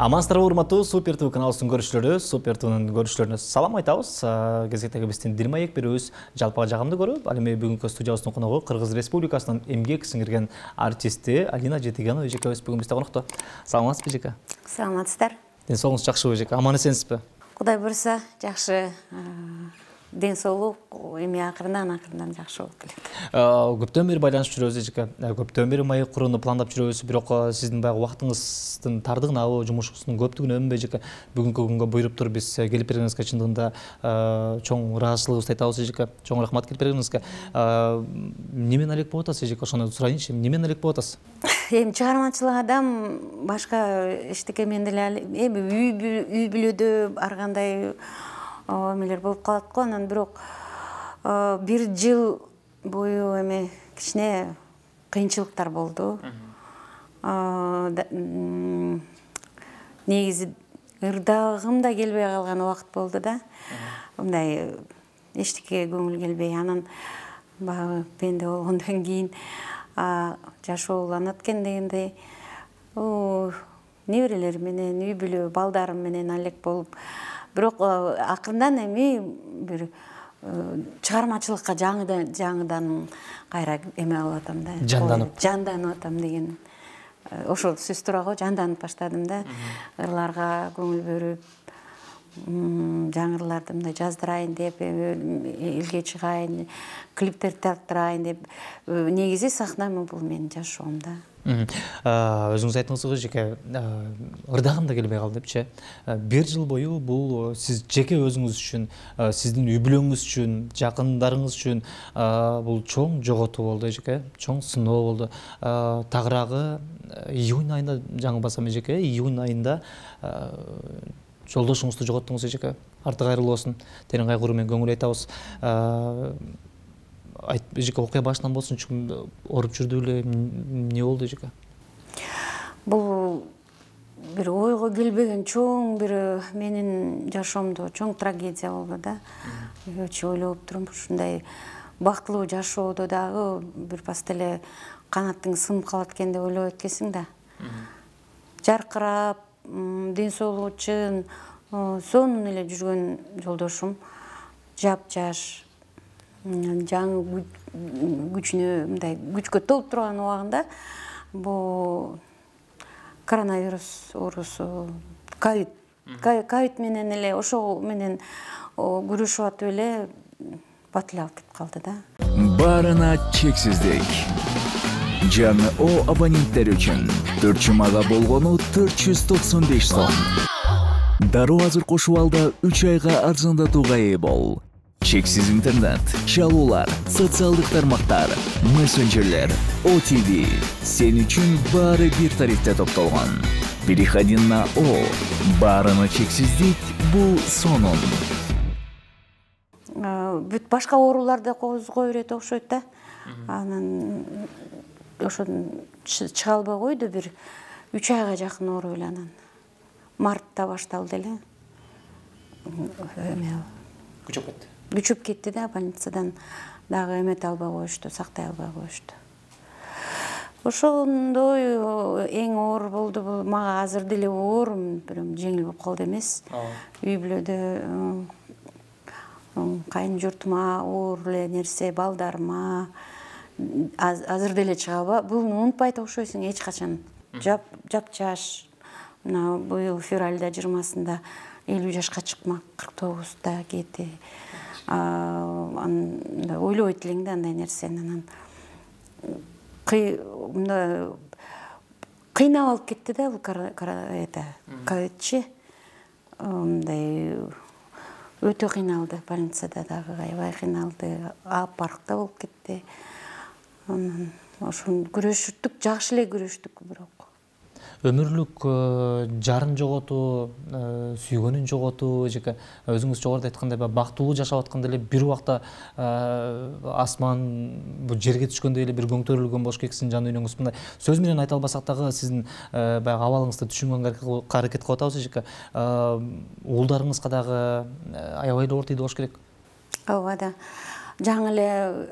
Амансыздарбы урматтуу Супер ТВ каналыбыздын көрүүчүлөрү, Супер ТВнын көрүүчүлөрүнө салам айтабыз. Кезектеги биздин Дилмаек берүүбүз жалпыга жагымды көрүп, ал эми бүгүнкү студиябыздын коногу Кыргыз Республикасынын эмгек сиңирген артисти Алина Жетигенова эжекебиз бүгүн бизде конокто. Саламатсызбы эжеке? Саламатсыздар. Ден соолугуңуз жакшыбы эжеке? Аман эсенсизби? Кудай буйруса, жакшы. Ден соолук эми акырынан жакшы болуп келет. Көптөн бери байланышып жүрөбүз эжеке. Көптөн бери маек курууну пландап жүрөбүз, бирок сиздин баягы убактыңыздын тардыгынабы, жумушуңуздун көптүгүнөнбү эжеке бүгүнкү күнгө буйруп туруп биз келип бергениңизге чындыгында чоң ыраазычылыгыбызды айтабыз эжеке. Чоң рахмат келип бергениңизге. Немен алек болуп атасыз эжеке? Ошону сурайынчы, немен алек болуп атасыз? Эми чыгармачылык адам башка эчтеке менен деле эми үй бүлөдө ар кандай эмелер болуп калат го. Анан бирок бир жыл бою эми кичине кыйынчылыктар болду. Негизи ырдагым да келбей калган убакыт болду да. Мындай эчтеке көңүл келбей, анан баягы пенде болгондон кийин жашоо уланат экен дегендей неберелер менен, үй бүлө, балдарым менен алек болуп, бирок акырындан эми бир чыгармачылыкка жаңыдан кайра эме алып атам да. Жанданып атам деген ошол сөз туура го, жанданып баштадым да. Ырларга көңүл бөлүп, жаңы ырларды мындай жаздырайын деп, элге чыгайын, клиптер тарттырайын деп. Негизи сахна бул менин жашоом да. Өзүңүз айттыңыз го эжеке, ырдагым да келбей калды депчи. Бир жыл бою бул сиз жеке өзүңүз үчүн, сиздин үй бүлөңүз үчүн, жакындарыңыз үчүн бул чоң жоготуу болду эжеке, чоң сыноо болду. Тагыраагы июнь айында жаңылбасам эжеке, июнь айында жолдошуңузду жоготтуңуз эжеке. Арты кайрылуу болсун. Терең кайгыруу менен көңүл айтабыз. Эжеке, окуя башынан болсун, ооруп жүрдү эле, эмне болду эжеке? Бул бир ойго келбеген чоң бир менин жашоомдо чоң трагедия болду да. Өчө ойлоп турум, ушундай бактылуу жашоодо дагы бир паста эле канатың сынып калат экен деп ойлоп өткөсүң да. Жаркырап, ден соолугу чын, сонун эле жүргөн жолдошум жап-жаш, жаңы күчүнө, мындай күчкө толуп турган убагында бул коронавирус оорусу, ковид менен эле ошол менен күрөшүп атып эле бат эле алып кетип калды да. Баарына чексиздик. Жаңы абоненттер үчүн 4 жумага болгону 495 сом. Дароо азыр кошуп алда 3 айга арзандатууга ээ бол. Чексиз интернет, чалуулар, социалдык тармактар, мессенджерлер, OTV сен үчүн баары бир тарифте топтолгон. Переходи на баарына чексиздик, бул сонун. Бүт башка ооруларды козгой берет окшойт да. Анан ошон чыга албай койду, бир 3 айга жакын ооруп эле анан мартта башталды эле. Күчөп кетти да, больницадан дагы эмете албай коюшту, сактай албай коюшту. Ошондой эң оор болду бул. Мага азыр деле оор, бирок жеңил болуп калды эмес. Үй бүлөдө кайын журтума оор эле нерсе, балдарыма азыр деле чыга албай. Буну унутпайт окшойсуң эч качан. Жап-жаш. Мына быйыл февралда 20-сында 50 жашка чыкмак, 49-да кетти. Ойлобойт элең да андай нерсени. Анан кыйнап алып кетти да бул ковидчи. Мындай өтө кыйналды, больницада дагы аябай кыйналды, апарыкта болуп кетти. Ошон күрөшүттүк, жакшы эле күрөштүк, бирок өмүрлүк жарын жоготуу, сүйгөнүн жоготуу эжеке. Өзүңүз жогоруда айткандай бактылуу жашап атканда эле бир убакта асман бул жерге түшкөндөй эле бир көңтөрүлгөн болуш керек сиздин жан дүйнөңүз. Мындай сөз менен айта албасак дагы сиздин баягы абалыңызды түшүнгөнгө аракет кылып атабыз эжеке. Уулдарыңызга дагы аябай эле оор тийди болуш керек. Ооба да. Жаңы эле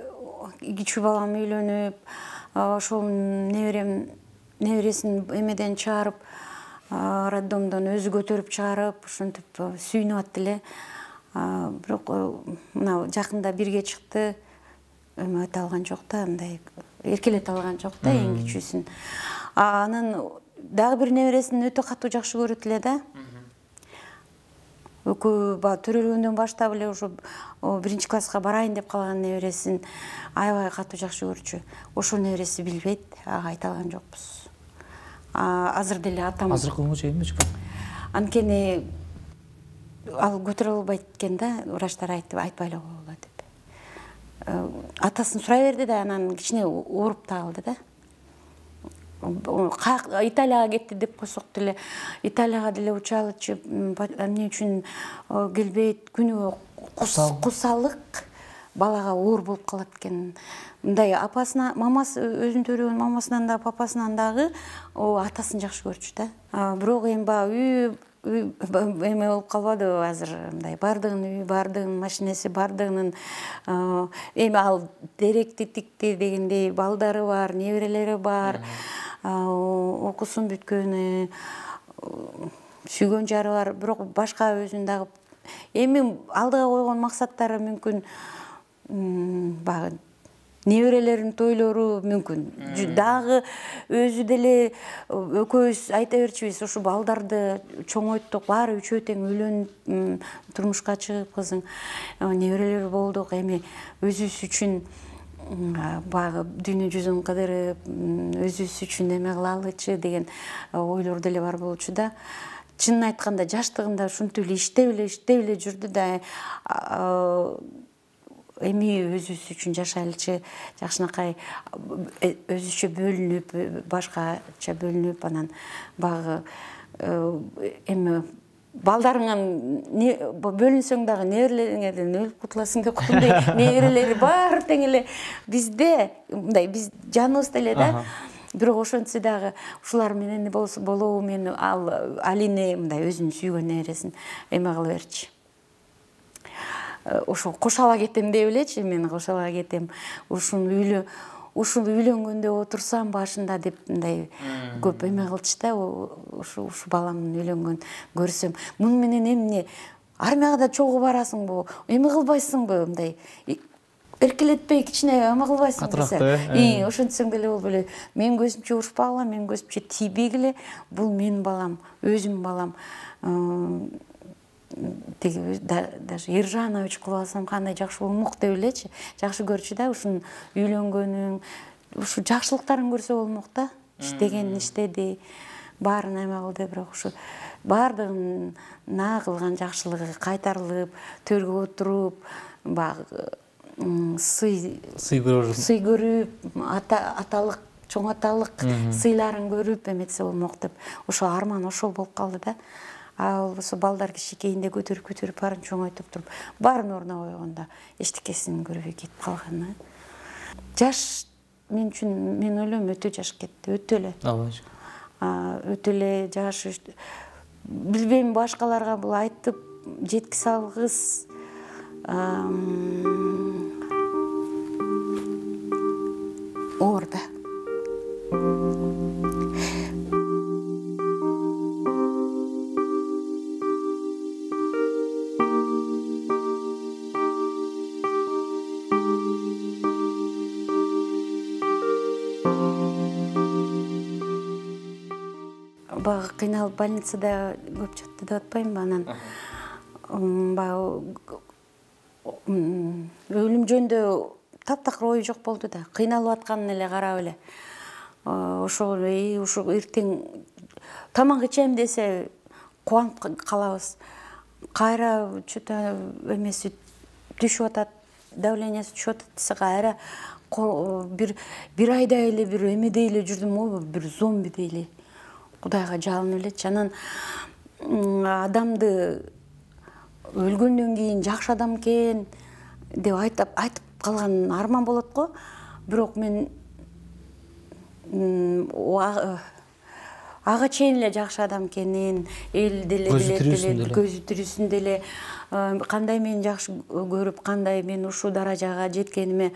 кичүү балам үйлөнүп, ошол небересин эмеден чыгарып, роддомдон өзү көтөрүп чыгарып ушинтип сүйүнүп аттı эле. Бирок мына жакында бирге чыкты. Өтө алган жок да, мындай эркелете алган жок да эң кичүүсүн. Анын дагы бир небересин өтө катуу жакшы көрөт эле да. Экөө төрөлгөндөн баштап эле ушу 1-класска барайын деп калган небересин аябай катуу жакшы көрчү. Ошол небереси билбейт, ага айта алган жокпуз. Азыр деле атам. Азыркы чейинби? Анткени ал көтөрө албайт экен да, врачтар айтпай эле койгула деп. Атасын сурай берди да, анан кичине ооруп да калды да. Италияга кетти деп койсок деле, Италияга деле учалычы, эмне үчүн келбейт, күнүгө кусалык балага оор болуп калат экен. Мындай апасына, мамасы өзүн төрөгөн мамасынан да, папасынан дагы атасын жакшы көрчү да. Бирок эми баягы эме болуп калбадыбы азыр, мындай бардыгынын үйү, бардыгынын машинеси, бардыгынын эми ал деректи тикти дегендей балдары бар, неберелери бар, окуусун бүткөнү, сүйгөн жары бар, бирок башка өзүнүн дагы эми алдыга койгон максаттары мүмкүн баягы неберелерин тойлору мүмкүн. Дагы өзү деле экөөбүз айта берчүбүз, ушу балдарды чоңойттук, баары үчөө тең үйлөнүп, турмушка чыгып, кызың неберелер болдук, эми өзүбүз үчүн баягы дүйнө жүзүн кыдырып, өзүбүз үчүн эме кылалычы деген ойлор деле бар болчу да. Чынын айтканда жаштыгында ушинтип эле иштеп эле жүрдү да, эми өзүбүз үчүн жашайлычы, жакшынакай өзүчө бөлүнүп, башкача бөлүнүп, анан багы эми балдарыңан бөлүнсөң дагы неберелериңерден өлүп кутуласың деп койгондой, неберелери баары тең эле бизде, мындай биз жаныбызда эле да. Бирок ошентсе дагы ушулар менен болобу, мен Алине мындай өзүнүн сүйгөн небересин эме кыла берчи. Ошо кошала кетем деп элечи, мен кошала кетем. Ушул үйлөнгөндө отурсам башында деп мындай көп эме кылчы да, ушу баламдын үйлөнгөн көрсөм. Муну менен эмне армияга да чогуу барасыңбы, эме кылбайсыңбы, мындай эркелетпей кичине эме кылбайсыңбы десе. Ошентсең деле болбой эле. Мен көзүмчө урушпагыла, мен көзүмчө тийбегиле, бул менин балам, өзүмдүн балам. Даже Ержанович кылып алсам кандай жакшы болмок деп элечи, жакшы көрчү да, ушунун үйлөнгөнүн, ушу жакшылыктарын көрсө болмок да. Иштегенин иштеди, баарын эме кылды, бирок ушу баардыгына кылган жакшылыгы кайтарылып, төргө отуруп, баягы сый көрүп, аталык, чоң аталык сыйларын көрүп эметсе болмок деп, ошо арман ошол болуп калды да. Ал болсо балдар кичинекейинде көтөрүп баарын чоңойтуп туруп, баарын ордуна койгондо эчтекесин көрбөй кетип калганы. Жаш мен үчүн, мен ойлойм, өтө жаш кетти, өтө эле. Өтө эле жаш. Билбейм, башкаларга бул айтып жеткизе алгыс. Оор да. Бага кыйналып больницада көп жатты деп атпаймынбы, анан баягы өлүм жөнүндө таптакыр ою жок болду да. Кыйналып атканын эле карап эле. Ошол ушу эртең тамак ичем десе кубанып калабыз. Кайра что-то эмеси түшүп атат, давлениясы түшүп атат десе кайра бир айдай эле бир эмедей эле жүрдүм, бир зомбидей эле. Кудайга жалынып элечи. Анан адамды өлгөндөн кийин жакшы адам экен деп айтып калган арман болот го. Бирок мен ага чейин эле жакшы адам экенин, эл деле билет, көзү тирүүсүндө эле кандай мени жакшы көрүп, кандай мен ушул даражага жеткениме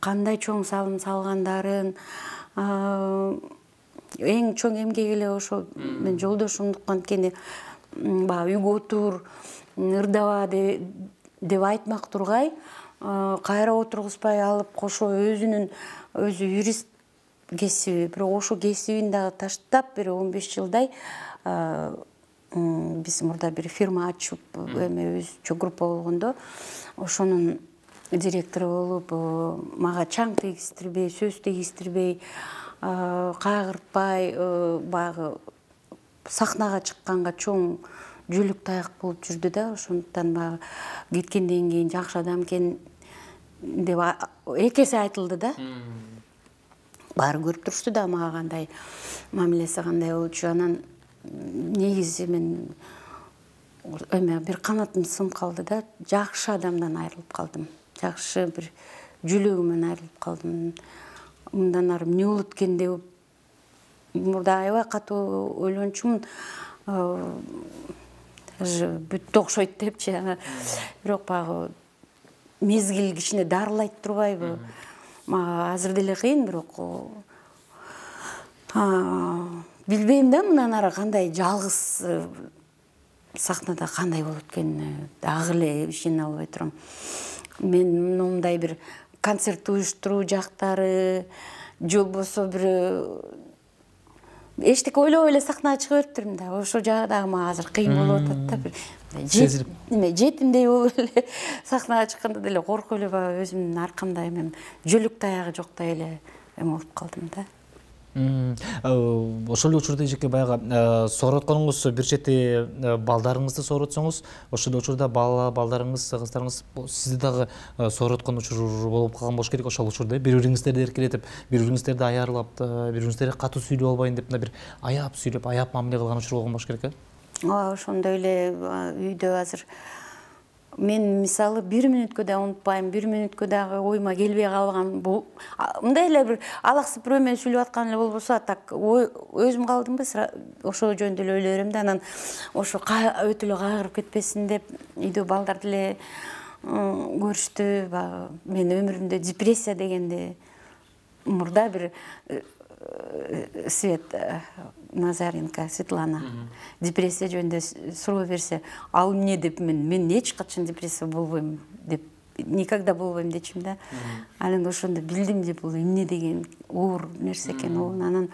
кандай чоң салым салгандарын, эң чоң эмгек эле ошо мен жолдошумдук, анткени баягы үйгө отур, ырдаба деп айтмак тургай, кайра отургузбай алып кошо өзү юрист кесиби, бирок ошо кесибин дагы таштап бир 15 жылдай биз мурда бир фирма ачып, эме өзүчө группа болгондо ошонун директору болуп, мага чаң тийгиздирбей, сөз тийгиздирбей, кайгыртпай, баягы сахнага чыкканга чоң жүлүк таяк болуп жүрдү да. Ошондуктан баягы кеткенден кийин жакшы адам экен деп эки эсе айтылды да. Баары көрүп турушты да мага кандай мамилеси кандай болчу. Анан негизи мен эме бир канатым сынып калды да. Жакшы адамдан айрылып калдым. Жакшы бир жүлөгүмөн айрылып калдым. Мындан ары эмне болот экен деп мурда аябай катуу ойлончумун. Бүттү окшойт депчи. Бирок баягы мезгил кичине дарылайт турбайбы? Мага азыр деле кыйын, бирок билбейм да мындан ары кандай жалгыз сахнада кандай болот экенин дагы эле ишене албай турам. Мен мындай бир концерт уюштуруу жактары же болбосо бир эчтеке ойлобой эле сахнага чыга бериптирмин да. Ошол жагы дагы мага азыр кыйын болуп атат да. Бир жетимдей болуп эле сахнага чыкканда деле коркуп эле баягы өзүмдүн аркамда эме жүлүк таягы жоктой эле эме болуп калдым да. Ошол учурда эжеке баягы соорутканыңыз бир чети балдарыңызды соорутсоңуз, ошол учурда балдарыңыз, кыздарыңыз сизди дагы сооруткан учур болуп калган болуш керек. Ошол учурда бири-бириңиздерди эркелетип, бири-бириңиздерди аярлап, бири-бириңиздерге катуу сүйлөп албайын деп бир аяп сүйлөп, аяп мамиле кылган учур болгон болуш керек. Ооба, ошондой эле үйдө азыр мен мисалы 1 мүнөткө да унутпайм, 1 мүнөткө дагы ойума келбей калган мындай эле бир алаксып бирөө менен сүйлөп аткан эле болбосо, так өзүм калдымбы, ошол жөнүндө эле ойлой берем да. Анан ошо өтө эле кайгырып кетпесин деп үйдө балдар деле көрүштү. Мен өмүрүмдө депрессия дегенди мурда бир Назаренко Светлана депрессия жөнүндө суроо берсе, ал эмне деп мен эч качан депрессия болбойм деп, никогда болбойм дечим да. Анан ошондо билдим деп бул эмне деген оор нерсе экен. Анан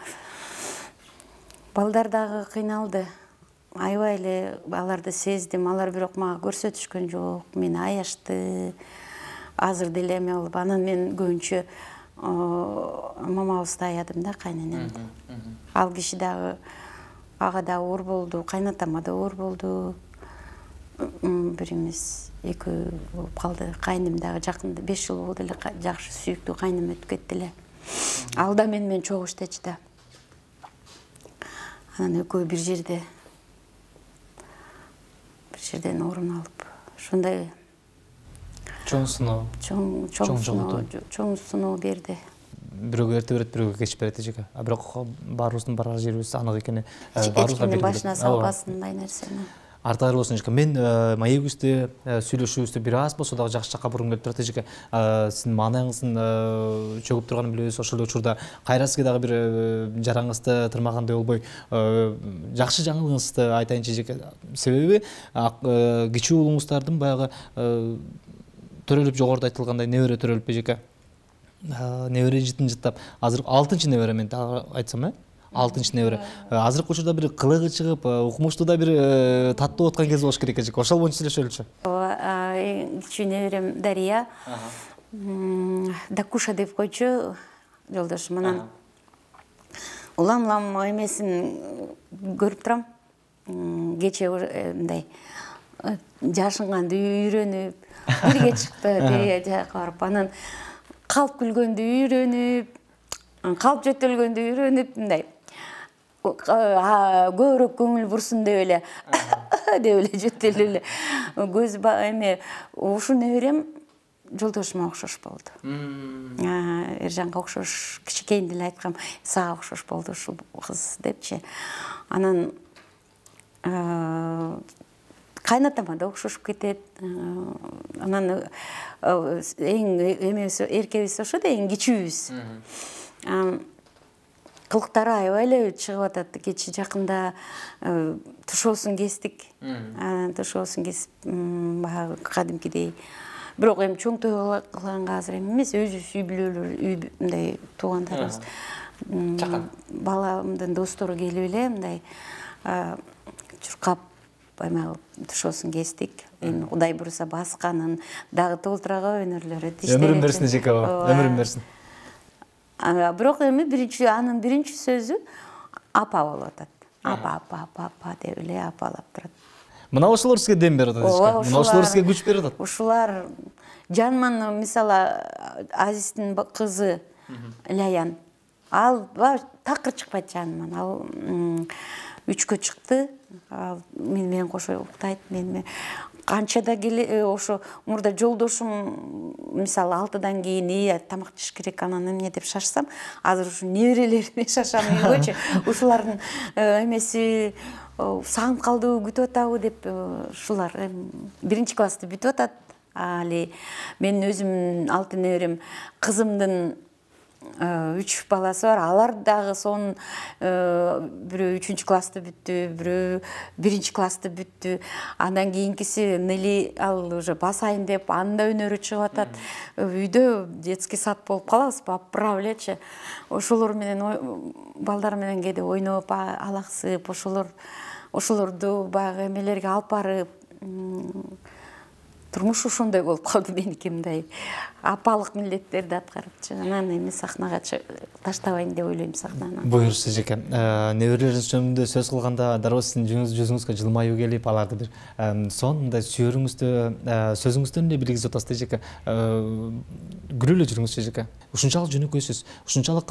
балдар дагы кыйналды. Аябай эле аларды сездим. Алар бирок мага көрсөтүшкөн жок. Мени аячты. Азыр деле эме болуп, анан мен көбүнчө мамабызды аядым да, кайненемди. Ал киши дагы ага да оор болду, кайнатама да оор болду. Бир эмес, экөө болуп калды. Кайным дагы жакында 5 жыл болду эле жакшы сүйүктүү кайным өтүп кетти эле. Ал да менен чогуу иштечи да. Анан экөө бир жерден орун алып, ошондой чоң сыноо берди. Бирөөгө эрте берет, бирөөгө кеч берет эжеке. Бирок баарыбыздын барар жерибиз анык экени баарыбызга белгилүү. Башына салбасын мындай нерсени. Артыгар болсун эжеке. Мен маегибизди, сүйлөшүүбүздү бир аз болсо дагы жакшы жакка бургум келип турат эжеке. Сиздин маанайыңыздын чөгүп турганын билебиз. Ошол учурда кайра сизге дагы бир жараңызды тырмагандай болбой, жакшы жаңылыгыңызды айтайынчы эжеке. Себеби кичүү уулуңуздардын баягы төрөлүп, жогоруда айтылгандай небере төрөлүп эжеке. Небере жыттап, азыр 6-чы небере мен айтсам, 6-чы небере. Азыркы учурда бир кылыгы чыгып, укмуштуу да бир таттуу аткан кез болуш керек эжеке. Ошол боюнча сүйлөшөлүчү. Кичүү неберем Дария. Дакуша деп койчу жолдошум. Анан улам эмесин көрүп турам. Кече мындай жашынганды үйрөнүп, бирге чыкты, Дария жака барып, анан калп күлгөндү үйрөнүп, калп жөтөлгөндү үйрөнүп, мындай көбүрөөк көңүл бурсун деп эле жөтөлүп эле көз эме ушул неберем жолдошума окшош болду. Эржанга окшош, кичинекейинде эле айткам, сага окшош болду ушул кыз депчи. Анан кайнатама да окшошуп кетет. Анан эң эмебиз, эркебиз ошо да, эң кичүүбүз. кылыктары аябай эле чыгып атат. Кечээ жакында тушоосун кестик. Тушоосун кесип баягы кадимкидей. Бирок эми чоң той кылганга азыр эмес, өзүбүз үй бүлөлөр, мындай туугандарыбыз, баламдын достору келип эле мындай чуркап баягы тушоосун кестик. Эми Кудай буюрса басканын дагы толтурага өнөрлөрү тиштери. Өмүрүн берсин эжеке aba, өмүрүн берсин. Бирок эми анын биринчи сөзү апа болуп атат. Апа деп эле апалап турат. Мына ошолор сизге дем берип атат эжеке. Мына ошолор сизге күч берип атат. Ушулар Жанман, мисалы, Азиздин кызы Лаян. Ал такыр чыкпайт Жанман. Ал 3кө чыкты. Мен менен кошо уктайт. Мен канчада ошо мурда жолдошум мисалы 6-дан кийин тамак жеш керек, анан эмне деп шашсам, азыр ушу неберелериме шашам үйгөчү. Ушулардын эмеси сагынып калдыбы, күтүп атабы деп ушулар 1-классты бүтүп атат. Али мен өзүм 6 неберем, кызымдын 3 баласы бар. Алар дагы сонун бирөө 3-классты бүттү, бирөө 1-классты бүттү. Андан кийинкиси Нели ал уже басайын деп, анын да өнөрү чыгып атат. Үйдө детский сад болуп калабыз, поправлячы. Ошолор менен балдар менен кээде ойноп, алаксып, ошолорду баягы эмелерге алып барып, турмуш ошондой болуп калды меники, мындай апалык милдеттерди аткарып, анан эми сахнага таштабайын деп ойлойм сахнаны. Буюрса эжеке, неберелериңиз жөнүндө сөз кылганда дароо сиздин жүзүңүзгө жылмаюу келип, аларды бир сонун сөзүңүздөн эле билгизип атасыз эжеке. Күлүп эле жүрүңүз эжеке. Ушунчалык жөнөкөйсүз. Ушунчалык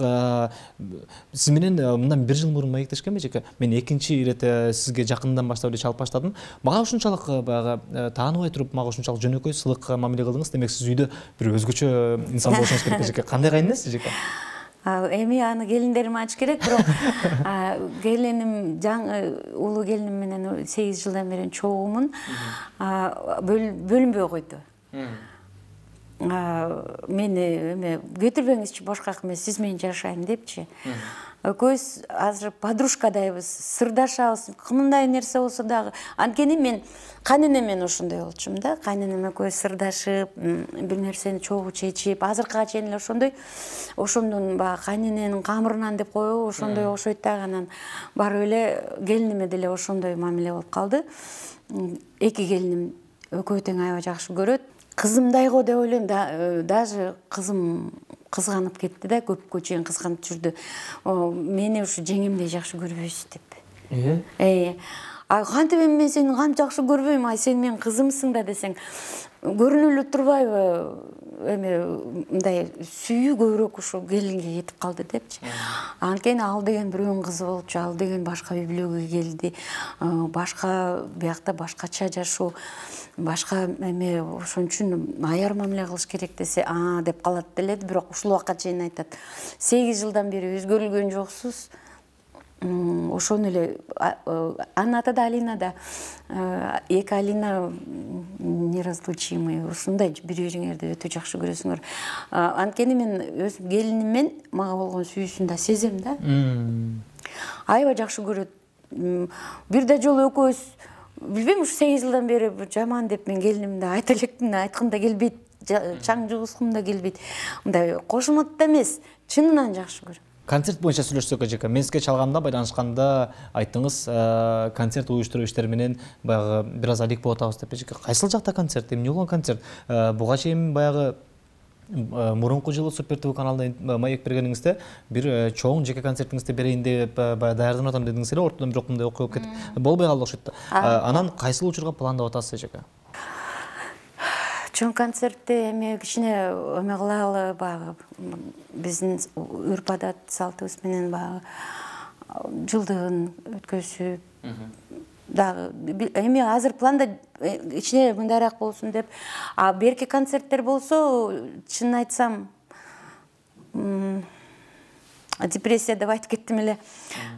сиз менен мындан 1 жыл мурун маектешкенби эжеке? Мен экинчи ирет сизге жакындан баштап эле чалып баштадым. Мага ушунчалык баягы тааныбай туруп, мага ушунчалык жөнөкөй сылык мамиле кылдыңыз. Демек сиз үйдө бир өзгөчө инсан болушуңуз керек эжеке. Кандай кайныңыз эжеке? Эми аны келиндерим айтыш керек, бирок келиним улуу келиним менен 8 жылдан бери чогумун бөлүнбөй койду. Мени эме кетирбеңизчи башка эмес, сиз менен жашайын депчи. Экөөбүз азыр подружкадайбыз, сырдашабыз, кымдай нерсе болсо дагы. Анткени мен кайненем менен ошондой болчумун да. Кайненем экөөбүз сырдашып, бир нерсени чогуу чечип, азыркыга чейин эле ошондой. Ошондон баягы кайнененин камырынан деп коебу, ошондой окшойт дагы. Анан барып эле келиниме деле ошондой мамиле болуп калды. Эки келиним экөө тең аябай жакшы көрөт. Кызымдай го деп ойлойм, даже кызым кызганып кетти да, көпкө чейин кызганып жүрдү. Мени ушу жеңемдей жакшы көрбөйсүз деп. Кантип эми мен сени кантип жакшы көрбөйм, сен менин кызымсың да десең, көрүнүп эле турбайбы? Эми мындай сүйүү көбүрөөк ушу келинге кетип калды депчи. Анткени ал деген бирөөнүн кызы болчу, ал деген башка үй бүлөгө келди. Башка биякта башкача жашоо, башка эме, ошон үчүн аяр мамиле кылыш керек десе, деп калат делет. Бирок ушул убакка чейин айтат, 8 жылдан бери өзгөрүлгөн жоксуз. Ошону эле анын аты да Алина да, эки Алина неразлучимый, ушундай бири бириңерди өтө жакшы көрөсүңөр. Анткени мен өз келиниммен мага болгон сүйүүсүн да сезем да. Аябай жакшы көрөт. Бир да жолу экөөбүз билбейм, ушу 8 жылдан бери жаман деп мен келинимди айта элекмин, айткым да келбейт, чаң жугускум да келбейт. Мындай кошумат да эмес, чынынан жакшы көрөм. Концерт боюнча сүйлөшсөк эжеке, мен сизге чалганда, байланышканда айттыңыз, концерт уюштуруу иштери менен баягы бир аз алек болуп атабыз деп эжеке. Кайсыл жакта концерт, эмне болгон концерт? Буга чейин баягы мурунку жылы Супер ТВ каналында маек бергениңизде бир чоң жеке концертиңизди берейин деп даярданып атам дедиңиз эле, ортодон бирок мындай окуя болуп кетип болбой калды окшойт. Анан кайсыл учурга пландап атасыз эжеке? Чоң концертти эми кичине эме кылалы, баягы биздин үрп-адат салтыбыз менен баягы жылдыгын өткөзүп дагы эми азыр планда кичине мындайраак болсун деп. Берки концерттер болсо, чынын айтсам, депрессия деп айтып кеттим эле.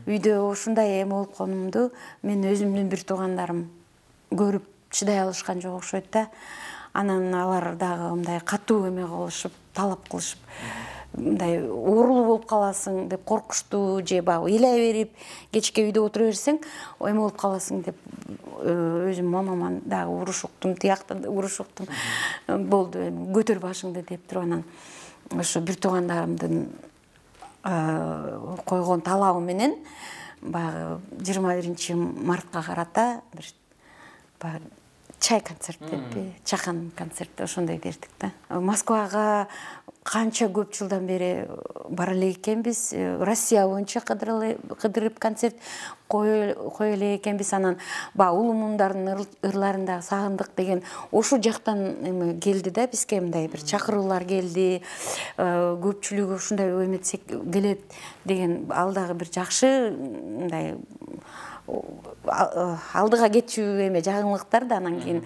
Үйдө ушундай эме болуп конумду мен өзүмдүн бир туугандарым көрүп чыдай алышкан жок окшойт да. Анан алар дагы мындай катуу эме кылышып, талап кылышып, мындай оорулуу болуп каласың деп коркуштуу же баягы ыйлай берип кечке үйдө отура берсең эме болуп каласың деп өзүм мамаман дагы уруш уктум, тиякта уруш уктум. Болду, көтөр башыңды деп туруп анан ошо бир туугандарымдын койгон талабы менен баягы 21-мартка карата бир баягы чай концерт деппи, чакан концерт ошондой бердик да. Москвага канча көп жылдан бери бара эле экенбиз. Россия боюнча кыдырып концерт кое эле экенбиз. Анан баягы улуу мундардын ырларын сагындык деген ошол жактан эме келди да бизге, мындай бир чакыруулар келди. Көпчүлүгү ушундай эметсек келет деген ал дагы бир жакшы мындай алдыга кетчү эме жагымлыктар да. Анан кийин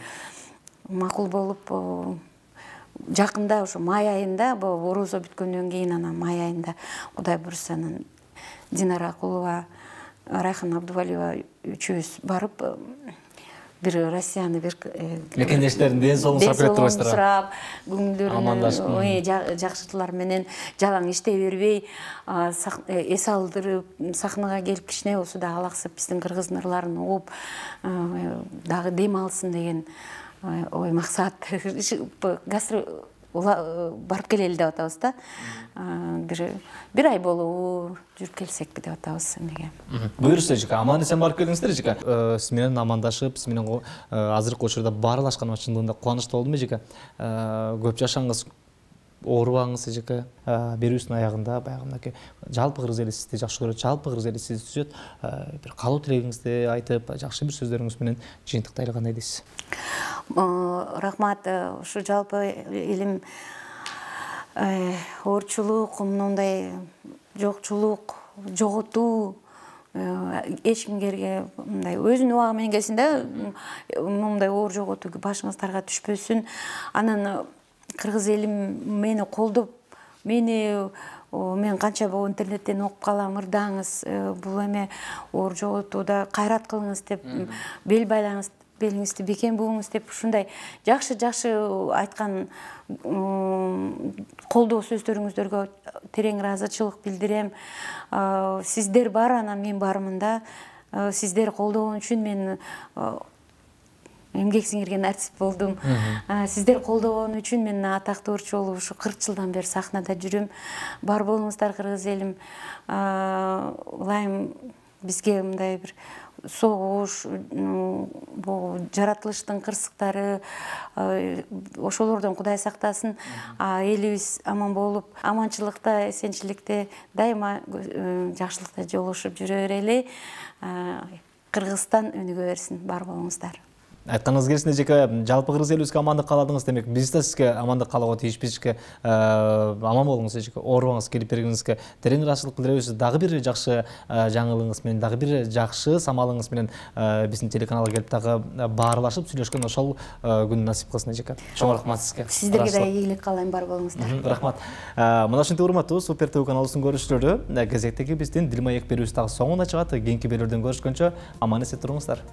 макул болуп жакында ошо май айында, орозо бүткөндөн кийин анан май айында Кудай буйруса анан Динара Акулова, Райхан Абдувалиева үчөөбүз барып бир Россияны бир мекендештерин ден соолугун сурап, көңүлдөрүн жакшыртуулар менен жалаң иштей бербей эс алдырып сахнага келип кичине болсо да алаксып биздин кыргыздын ырларын угуп дагы дем алсын деген ой максат. Барып келели деп атабыз да. Бир ай болобу жүрүп келсекпи деп атабыз эмеге. Буюрса жыка аман эсен барып келиңиздер жыка. Сиз менен амандашып, сиз менен азыркы учурда баарлашканыма чындыгында кубанычтуу болдум жыка. Көп жашаңыз, оорубаңыз жыка. Берүүбүздүн аягында баягы мынакей жалпы кыргыз эли сизди жакшы көрөт, жалпы кыргыз эли сизди түзөт. Бир калуу тилегиңизди айтып, жакшы бир сөздөрүңүз менен жыйынтыктайлы кандай дейсиз? Рахмат. Ушу жалпы элим оорчулук, мындай жокчулук, жоготуу эч кимге мындай өзүнүн убагы менен келсин да, мындай оор жоготуу башыңыздарга түшпөсүн. Анан кыргыз элим мени колдоп, мен канча интернеттен окуп калам, ырдаңыз, бул эме оор жоготууда кайрат кылыңыз деп, бел байлаңыз, белиңизди бекем буңуз деп ушундай жакшы айткан колдоо сөздөрүңүздөргө терең ыраазычылык билдирем. Сиздер бар, анан мен бармын да. Сиздер колдогон үчүн мен эмгек сиңирген артист болдум. Сиздер колдогон үчүн мен атактуу оорчу болуп ушу 40 жылдан бери сахнада жүрөм. Бар болуңуздар кыргыз элим. Ылайым бизге мындай бир согуш, жаратылыштын кырсыктары, ошолордон Кудай сактасын. Элибиз аман болуп, аманчылыкта, эсенчиликте, дайыма жакшылыкта жолугушуп жүрө берели. Кыргызстан өнүгө берсин. Бар болуңуздар. Айтканыңыз келсин жеке, жалпы кыргыз элибизге амандык кааладыңыз демек, биз да сизге амандык каалоого тийишпиз жеке. Аман болуңуз жеке, оорубаңыз, келип бергениңизге терең ыраазычылык билдиребиз. Дагы бир жакшы жаңылыгыңыз менен, дагы бир жакшы самалыңыз менен биздин телеканалга келип дагы баарлашып сүйлөшкөн ошол күн насип кылсын жеке. Чоң рахмат сизге. Сиздерге да ийгилик каалайм, бар болуңуздар. Рахмат. Мына ушинтип урматтуу Супер ТВ каналыбыздын көрүүчүлөрү, кезектеги биздин Дилмаек берүүбүз дагы соңуна чыгат. Кийинки берүүдөн көрүшкөнчө аман эсен туруңуздар.